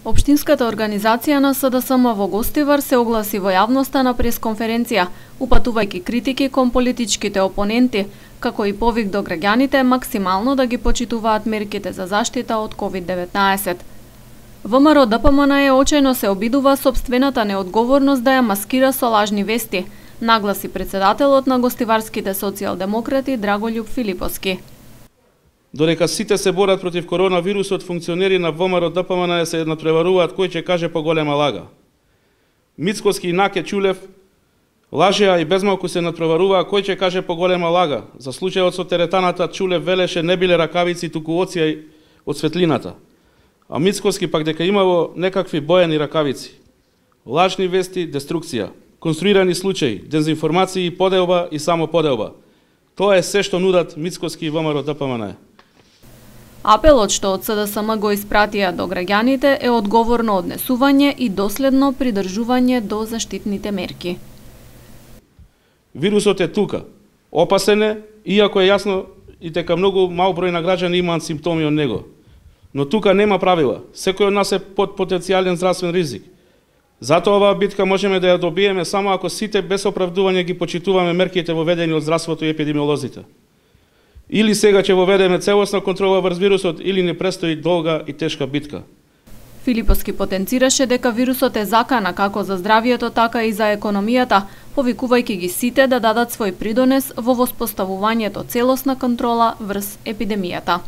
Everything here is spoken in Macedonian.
Општинската организација на СДСМ во Гостивар се огласи во јавноста на пресконференција, упатувајќи критики кон политичките опоненти, како и повик до граѓаните максимално да ги почитуваат мерките за заштита од COVID-19. ВМРО ДПМН очајно се обидува сопствената неодговорност да ја маскира со лажни вести, нагласи председателот на гостиварските социјалдемократи Драголјуб Филиповски. Додека сите се борат против коронавирусот, функционери на ВМРО ДПМН се надпреваруваат кој ќе каже поголема лага. Мицкоски и Наке Чулев лажеа и безмалку се надпреваруваа кој ќе каже поголема лага. За случајот со теретаната Чулев велеше не биле ракавици, туку оција од светлината. А Мицкоски пак дека имало некакви боени ракавици. Лажни вести, деструкција, конструирани случаи, дезинформации, поделба и само поделба. Тоа е се што нудат Мицкоски и ВМРО ДПМН. Апелот што од СДСМ го испратија до граѓаните е одговорно однесување и доследно придржување до заштитните мерки. Вирусот е тука. Опасен е, иако е јасно и дека многу мал број на граѓани имаат симптоми од него. Но тука нема правила. Секој од нас е под потенцијален здравствен ризик. Затоа оваа битка можеме да ја добиеме само ако сите без оправдување ги почитуваме мерките воведени од здравството и епидемиолозите. Или сега ќе воведеме целосна контрола врз вирусот, или не престои долга и тешка битка. Филиповски потенцираше дека вирусот е закана како за здравието, така и за економијата, повикувајќи ги сите да дадат свој придонес во воспоставувањето целосна контрола врз епидемијата.